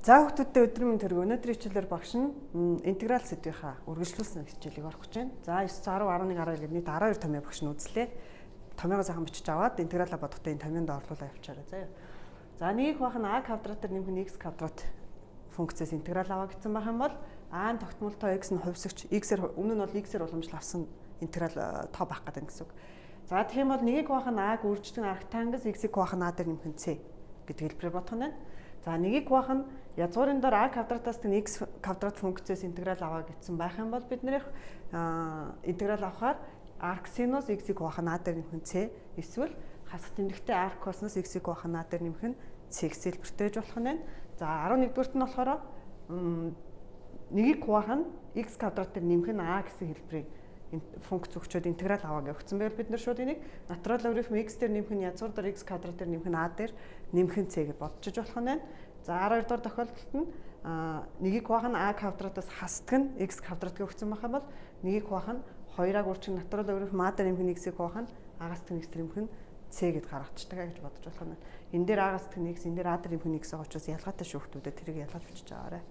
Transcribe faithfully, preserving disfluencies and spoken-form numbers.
За хүүхдүүдтэй өдрийн мэнд төргөө. Өнөөдрийн хичээлээр багш нь интеграл сэдвийнхаа үргэлжлүүлсэн хичээлийг орох гэж байна. За девять, десять, eleven, twelve гэдэг нийт twelve томьёо багш нь үзлээ. Томьёогоо сайхан бичиж аваад интегралаа бодохдоо энэ томьёонд орлуулаа явуулчаарай заяа. За нэг их бах нь а квадратаар нэмэх нь x квадрат функцээс интеграл аваа гэсэн байх юм бол а-н тогтмолтой x нь хувьсагч x-ээр өмнө нь бол x-ээр уламжлал авсан интеграл тоо байх гэдэг гэсэн үг. За тийм бол нэг их бах нь а-г үрждэг арктангас x-ийг бах нь а дээр нэмэх нь c гэдэг хэлбэрээр бодох нь байна. За нэг их бах нь язгуурын дор а квадратаас нь x квадрат функцээс интеграл аваа гэсэн байх юм бол бид нэр интеграл авахаар арк синус x-ийг бах нь а дээр нэмэх нь c эсвэл хасах тэмдэгтээ арк косинус x-ийг бах нь а дээр нэмэх нь c гэсэн хэлбэртэй байж болох нь байна. За eleven дугаарт нь болохоор нэг их бах нь x квадрат дээр нэмэх нь а гэсэн хэлбэрийн функц өгчөөд интеграл аваа гэсэн байвал бид нар шууд энийг натурал логарифм x дээр нэмэх нь язгуур дор x квадрат дээр нэмэх нь а дээр нэмэх нь c гэж бодчих болох нь байна. За twelve дугаар тохиолдолд нь нэг их бах нь а квадратаас хасдаг нь x квадрат гэж өгсөн байх юм бол нэг их бах нь two-аг үржих натурал логарифм а дээр нэмэх нь x-ийг бах нь агаас нь x дээр нэмэх нь c гэд гаргацдаг гэж бодож болох нь. Энэ дээр агаас нь x, энэ дээр а дээр нэмэх нь x байгаа учраас ялгаатай шүү хүмүүдээ тэрийг ялгаж бичиж аваарай.